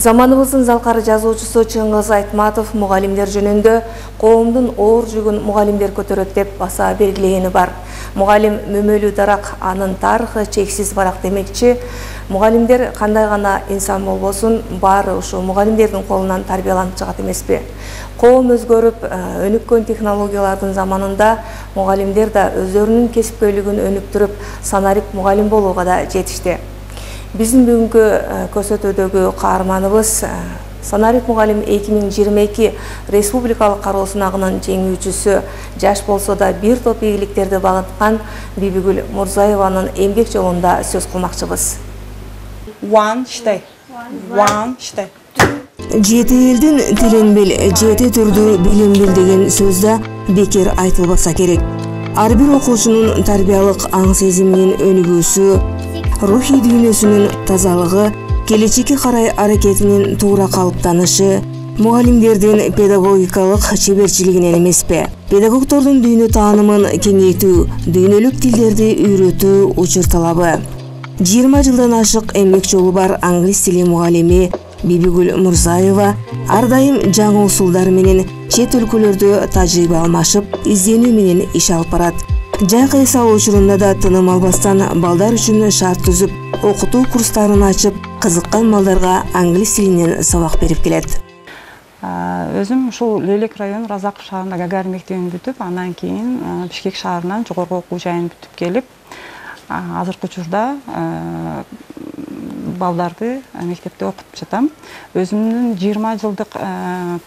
Заманыбыздын залкары жазуучусу Чыңгыз Айтматов мугалимдер жөнүндө коомдун оор жүгүн мугалимдер көтөрөт деп баса белгилегени бар. Мугалим мөмөлүү дарак, анын тарыхы чексиз барак демекчи. Мугалимдер кандай гана инсан болбосун, баары ушу мугалимдердин колунан тарбияланып чыгат эмеспи? Коом өзгөрүп, өнүккөн технологиялардын заманында мугалимдер да өздөрүнүн кесипкөйлүгүн өнүктүрүп, санарип мугалим болууга да жетишти. Биздин бүгүнкү көрсөтүүдөгү каарманыбыз Санарип мугалим 2022 республикалык кароо сынагынын жеңүүчүсү, жаш болсо да бир топ ийгиликтерди багыткан Бибигүл Мурзаеванын эмгек жолунда сөз кылмакчыбыз. Жети элдин тилин бил, жети түрдүү билим бил деген сөз да бекер айтылбаса керек. Ар бир окуучунун тарбиялык аң сезиминин өнүгүүсү, рухий дүйнөсүнүн тазалыгы, келечекке карай аракетинин туура калыптанышы мугалимдердин педагогикалык чеберчилигинен эмеспи? Педагогдордун дүйнө таанымын кеңейтүү, дүйнөлүк тилдерди үйрөтүү учур талабы. 20 жылдан ашык эмгек жолу бар англис тили мугалими Бибигүл Мурзаева ар дайым жаңы усулдар менен чет өлкөлөрдө тажрыйба алмашып, изденүү менен иш алып барат. Жайкы эс алуу учурунда да тыным албастан балдар үчүн шарт түзүп, окутуу курстарын ачып, кызыккан балдарга англис тилинен сабак берип келет. Өзүм ушул Лелек району Разаков шаарында Гагарин мектебин бүтүп, андан кийин Бишкек шаарынан жогорку окуу жайын бүтүп келип, азыркы учурда балдарды мектепте окутуп жатам. Өзүмдүн 20 жылдык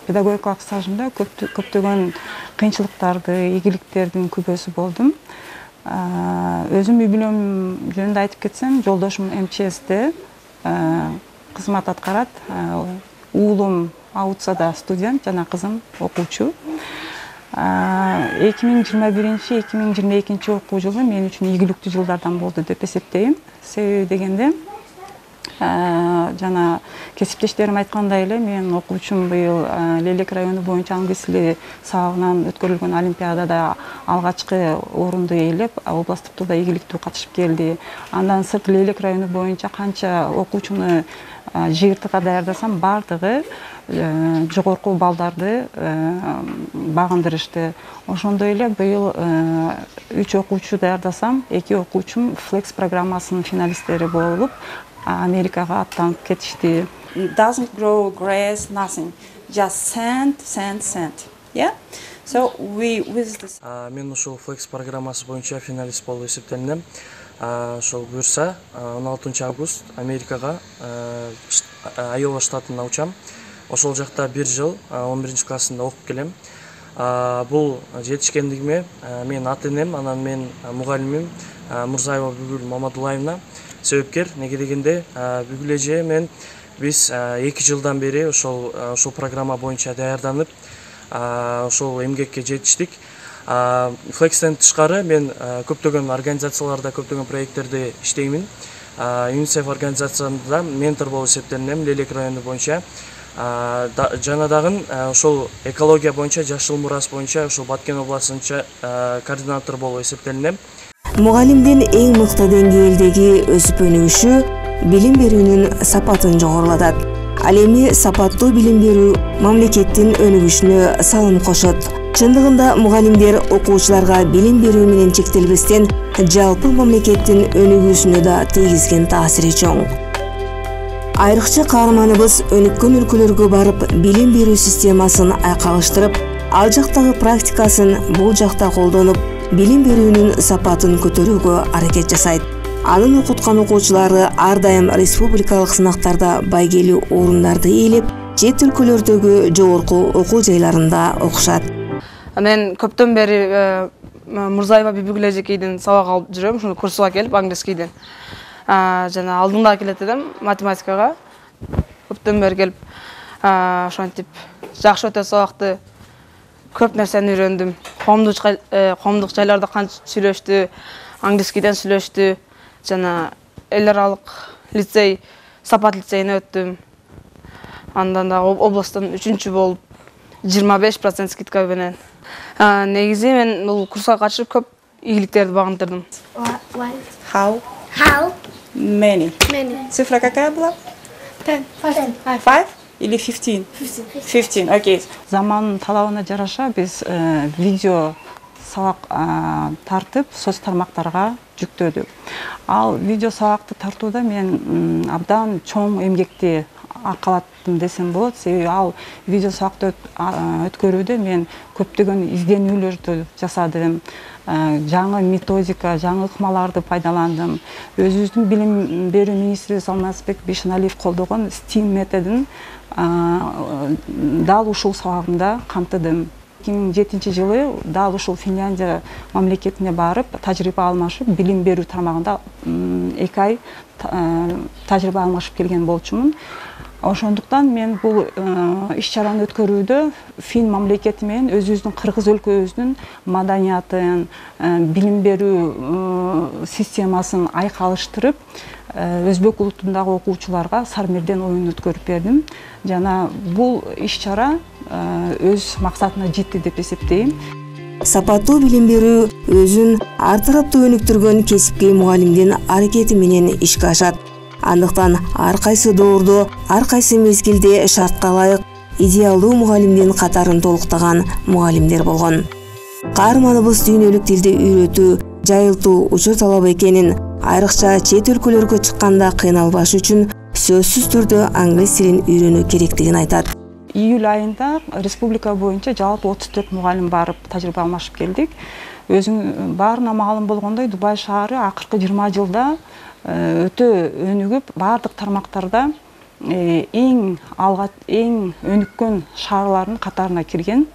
педагогикалык стажымда көптөгөн кыйынчылыктарды, ийгиликтердин күбөсү болдум. Өзүм үй бүлөм жөнүндө айтып кетсем, жолдошум МЧСте кызмат аткарат. Уулум Аутсада студент, жана кызым окуучу. 2021-2022 окуу жылы мен үчүн ийгиликтүү жылдардан болду деп эсептейм. Себеби дегенде, жана кесиптештерим айткандай эле, мен окуучум быйыл Лелек району боюнча англис тили сабагынан өткөрүлгөн олимпиадада алгачкы орунду ээлеп, областтыкта да ийгиликтүү катышып келди. Андан сырт Лелек району боюнча канча окуучуну жыйыртыкка даярдасам, бардыгы жогорку балдарды багындырышты. Ошондой эле быйыл 3 окуучу даярдасам, 2 окуучум Flex программасынын финалисттери болуп, Америкага аттанып кетишти. It doesn't grow grass, nothing. Just sand. Yeah? So with this. Мен ушул Flex программасы боюнча финалист болуп эсептелинем. Ошол буюрса 16 август Америкага, Айова штатына учам. Ошол жакта 1 жыл 11 классында окуп келем. Бул жетишкендигиме мен ата-энем, анан мен мугалимим Мурзаева Бибигүл Мамадулаевна себепкер. Неге дегенде, Бибигүл эже мен биз 2 жылдан бери ошол программа боюнча даярданып, ошол эмгекке жетиштик. Flex'тен тышкары мен көптөгөн организацияларда, көптөгөн проекттерде иштеймин. UNICEF организациясында ментор болуп эсептелинем Лелек району боюнча. Жана дагы ошол экология боюнча, жашыл мурас боюнча ошол Баткен областынча координатор болуп эсептелинем. Мугалимдин эң мыкты деңгээлдеги өсүп өнүгүшү билим берүүнүн сапатын жогорулатат. Ал эми сапаттуу билим берүү мамлекеттин өнүгүшүнө салым кошот. Чындыгында мугалимдер окуучуларга билим берүү менен чектелбестен жалпы мамлекеттин өнүгүүсүнө да тийгизген таасири чоң. Айрыкча каарманыбыз өнүккөн өлкөлөргө барып, билим берүү системасын айкалыштырып, ал жактагы практикасын бул жакта колдонуп, билим берүүнүн сапатын көтөрүүгө аракет жасайт. Анын окуткан окуучулары ар дайым республикалык сынактарда байгелүү орундарды ээлеп, чет өлкөлөрдөгү жогорку окуу жайларында окушат. Мен көптөн бери Мурзаева Бибигүл эжекейдин сабак алып жүрөм, ушул курсуга келип англискийден. Жана алдында келет элем математикага. Көптөн бери келип, ошентип жакшы өтө сабакты, көп нерсени үйрөндүм. Коомдук жайларда канча сүйлөштү, англискийден сүйлөштү. Жана эл аралык лицей, Сапат лицейине өттүм. Андан да областтан 3-чү болуп 25% скидка менен. Негизи мен бул курска катышып көп ийгиликтерди багынтырдым. How How many? many? Цифра какая была? 10. 5 или 15? 15, окей. Заманын талабына жараша биз видео сабак тартып соц тармактарга жүктөдүк. Ал видео сабакты тартууда мен абдан чоң эмгекти аркалаттым десем болот. Себеби ал видео сабакты өткөрүүдө мен көптөгөн изденүүлөрдү жасадым. Жаңы методика, жаңы ыкмаларды пайдаландым. Өзүбүздүн билим берүү министри Алмазбек Бишеналиев колдогон STEAM методун дал ушул сабагында камтыдым. 2007 жылы дал ушул Финляндия мамлекетине барып, тажрыйба алмашып, билим берүү тармагында 2 ай тажрыйба алмашып келген болчумун. Ошондуктан мен бул иш-чараны өткөрүүдө Фин мамлекети менен өзүбүздүн кыргыз өлкөбүздүн маданиятын, билим берүү системасын айкалыштырып, өзбек улутундагы окуучуларга Сармерден оюн өткөрүп бердим. Жана бул иш-чара өз максатына жетти деп эсептейм. Сапаттуу билим берүү өзүн ар тараптуу өнүктүргөн кесипкей мугалимдин аракети менен ишке ашат. Андыктан ар кайсы доордо, ар кайсы мезгилде шартка ылайык идеалдуу мугалимдин катарын толуктаган мугалимдер болгон. Каарманыбыз дүйнөлүк тилди үйрөтүү, жайылтуу учур талап экенин, айрыкча чет өлкөлөргө чыкканда кыйналбаш үчүн сөзсүз түрдө англис тилин үйрөнүү керектигин айтат. Июль айында республика боюнча жалпы 34 мугалим барып тажрыйба алмашып келдик. Өзүң баарына маалым болгондой, Дубай шаары акыркы 20 жылда өтө өнүгүп, бардык тармактарда эң өнүккөн шаарлардын катарына кирген.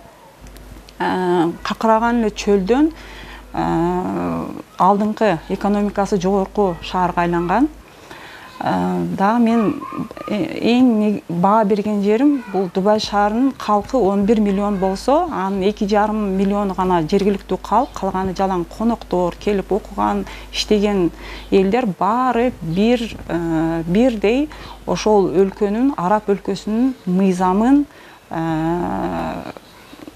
Какыраган эле чөлдөн алдыңкы экономикасы жогорку шаарга айланган. Дагы мен эң баа берген жерим бул Дубай шаарынын калкы 11 миллион болсо, анын 2,5 миллиону гана жергиликтүү калк, калганы жалаң коноктор, келип окуган, иштеген элдер баары бирдей ошол өлкөнүн, араб өлкөсүнүн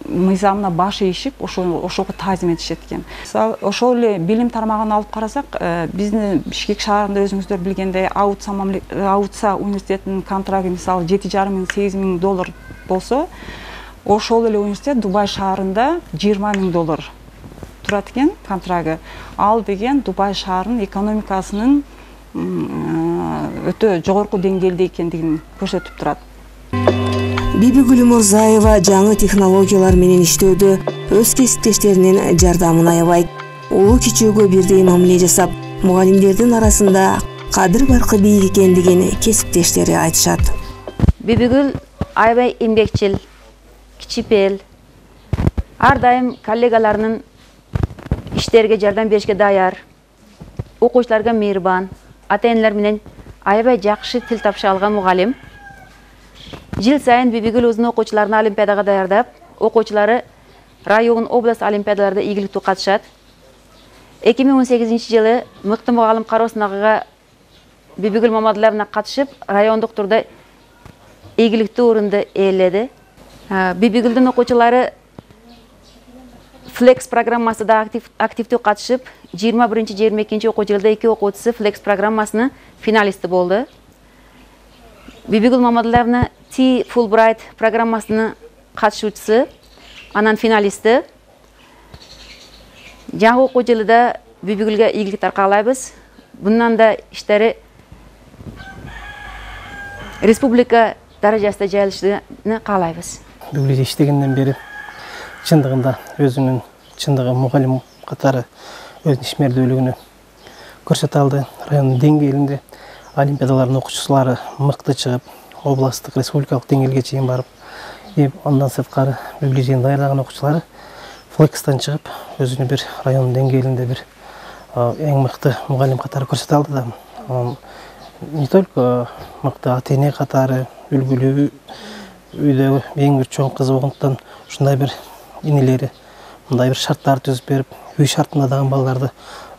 мыйзамына баш ийишип, ошого таазим этишет экен. Ошол эле билим тармагын алып карасак, биздин Бишкек шаарында өзүңүздөр билгендей Аутса университетинин контрагы мисалы $7,5–8,000 болсо, ошол эле университет Дубай шаарында $20,000 турат экен контрагы. Ал деген Дубай шаарынын экономикасынын өтө жогорку деңгээлде экендигин көрсөтүп турат. Бибигүл Мурзаева жаңы технологиялар менен иштөөдө өз кесиптештеринин жардамын аябайт. Улуу кичүүгө бирдей мамиле жасап, мугалимдердин арасында кадыр баркы бийик экендигин кесиптештери айтышат. Бибигүл аябай эмгекчил, кичипел, ар дайым коллегаларынын иштерге жардам беришке даяр, окуучуларга мейрибан, ата-энелер менен аябай жакшы тил табыша алган мугалим. Жыл сайын Бибигүл өзүнүн окуучуларын олимпиадага даярдап, окуучулары район, область олимпиадаларда ийгиликтүү катышат. 2018 жылы мыкты мугалим кароо сынагыга Бибигүл Мамадулловна катышып, райондук турда ийгиликтүү орунду ээледи. Бибигүлдүн окуучулары Flex программасында активдүү катышып, 21-22 окуу жылда 2 окуучусу Flex программасынын финалисти болду. Бибигүл Мамадулловна T Fulbright программасынын катышуучусу, анан финалисти. Жаңы окуу жылында Бибигүлгө ийгиликтер каалайбыз. Bundan да иштери республика даражасында жайылышын каалайбыз. Бибигүл иштегенден бери чындыгында өзүнүн чындыгы мугалим катары өзүнүн ишмердүүлүгүнү көрсөтө алды. Райондун деңгээлинде олимпиадалардын окуучулары мыкты чыгып, областтык, республикалык деңгээлге чейин барып, андан сырткары Бибигүл даярдаган окуучулары Флексстан чыгып, өзүнү бир райондун деңгээлинде бир эң мыкты мугалим катары көрсөтө алды да. Не только мыкты ата-эне катары, үлгүлүү үйдөгү эң бир чоң кызы болгондуктан ушундай бир инелери мындай бир шарттарды түзүп берип, үй шартында дагы балдарды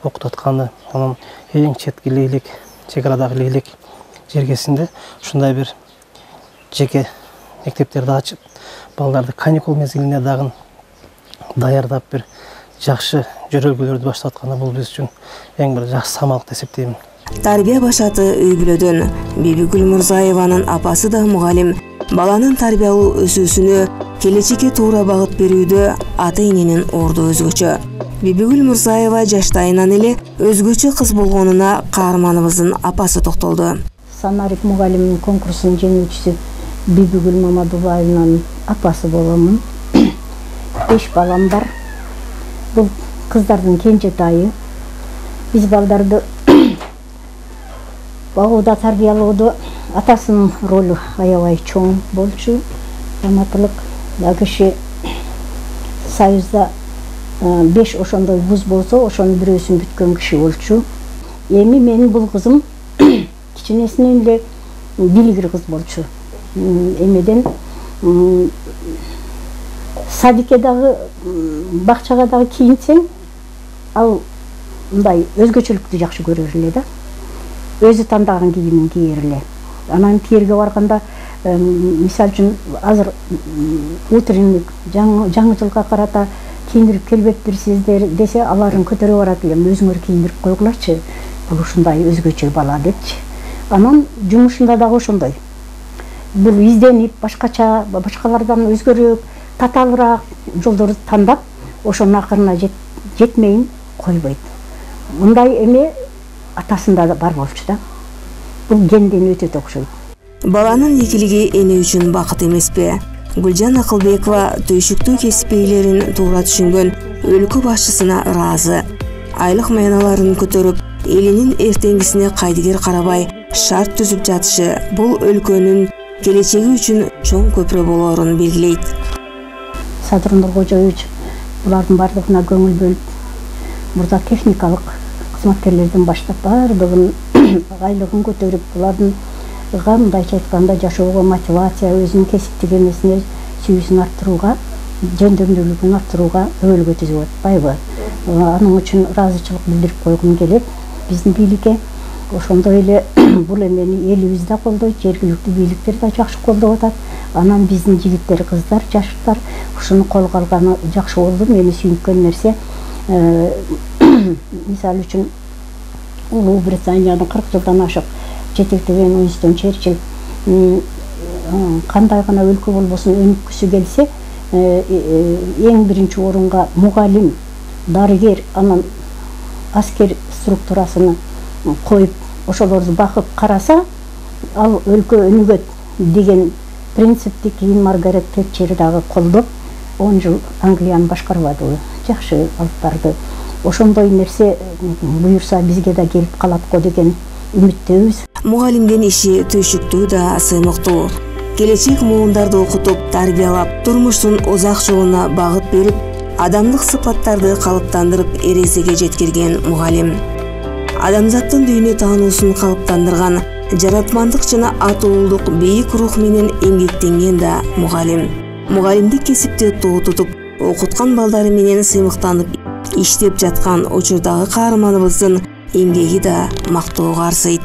окутуп атканы, анан эң четки Лейлек, чек арадагы Лейлек жергесинде ушундай бир жеке мектептерди ачып, балдарды каникул мезгилинде дагы даярдап бир жакшы жөрөлгөлөрдү баштап атканда бул биз үчүн эң бир жакшы самалдык деп эсептейм. Тарбия башаты үй бүлөдөн. Бибигүл Мурзаеванын апасы да мугалим. Баланын тарбиялуу өсүүсүнө, келечекке туура багыт берүүдө ата-эненин орду өзгөчө. Бибигүл Мурзаева жаштайынан эле өзгөчө кыз болгонуна каарманыбыздын апасы токтолду. Санарик мугалимдин конкурсунун жеңүүчүсү Бибигүл Мамадулаеванын апасы боломун. 5 балам бар. Бул кыздардын кенжетайы. Биз балдарды багууда, тарбиялоодо атасынын ролу аябай чоң болчу. Раматылык киши Союзда 5 ошондой вуз болсо, ошонун бирөөсүн бүткөн киши болчу. Эми менин бул кызым кичинесинен эле билгир кыз болчу. Эмеден садикке дагы, бакчага дагы кийинсең, ал мындай өзгөчөлүктү жакшы көрөр эле да. Өзү тандаган кийимин кийер эле. Анан тиерге барганда, мисалы үчүн азыр утренник жаңы жылга карата кийиндирип келбептирсиздер десе, аларын көтөрө барат элем, өзүңөр кийиндирип койгулачы. Бул ушундай өзгөчө бала депчи. Анан жумушунда дагы ошондой. Бул изденип, башкалардан өзгөрөөк, татаалыраак жолдорду тандап, ошонун акырына жетмейин койбойт. Мындай эме атасында да бар болчу да. Бул генден өтө окшойт. Баланын экилиги эне үчүн бакыт эмеспи? Гүлжан Акылбекова түйшүктүү кесип ээлерин туура түшүнгөн өлкө башчысына ыраазы. Айлык майналарын көтөрүп, элинин эртеңгисине кайдыгер карабай шарт түзүп жатышы бул өлкөнүн келечеги үчүн чоң көпүрө болоорун белгилейт. Садыр Нуркожоевич булардын бардыгына көңүл бөлүп, мурда техникалык кызматкерлерден баштап бардыгын айлыгын көтөрүп, булардын мындайча айтканда жашоого мотивация, өзүнүн кесиптик эмесине сүйүүсүн арттырууга, жөндөмдүүлүгүн арттырууга өбөлгө түзүп атпайбы? Анын үчүн ыраазычылык билдирип койгум келет. Биздин бийликке ошондой эле бул эмени элибиз да колдойт, жергиликтүү бийликтер да жакшы колдоп атат. Анан биздин жигиттер, кыздар, жаштар ушуну колго алганы жакшы болду. Мени сүйүнткөн нерсе, мисалы үчүн Улуу Британиянын 40 жылдан ашык жетектеген Уинстон Черчилль кандай гана өлкө болбосун өнүккүсү келсе, эң биринчи орунга мугалим, дарыгер, анан аскер структурасыны коюп, ошолорду бакып караса, ал өлкө өнүгөт деген принципти кийин Маргарет Тэтчер дагы колдоп, 10 жыл Англияны башкарбадыбы? Жакшы алып барды. Ошондой нерсе буюрса бизге да келип калат го деген үмүттөбүз. Мугалимдин иши түйшүктүү да сыймыктуу. Келечек муундарды окутуп, тарбиялап, турмуштун узак жолуна багыт берип, адамдык сыпаттарды калыптандырып эрезеге жеткирген мугалим. Адамзаттын дүйнө таануусун калыптандырган, жаратмандык жана атуулдук бийик рух менен эмгектенген да мугалим. Мугалимдик кесипти тоо тутуп, окуткан балдары менен сыймыктанып иштеп жаткан учурдагы каарманыбыздын эмгеги да мактоого арзыйт.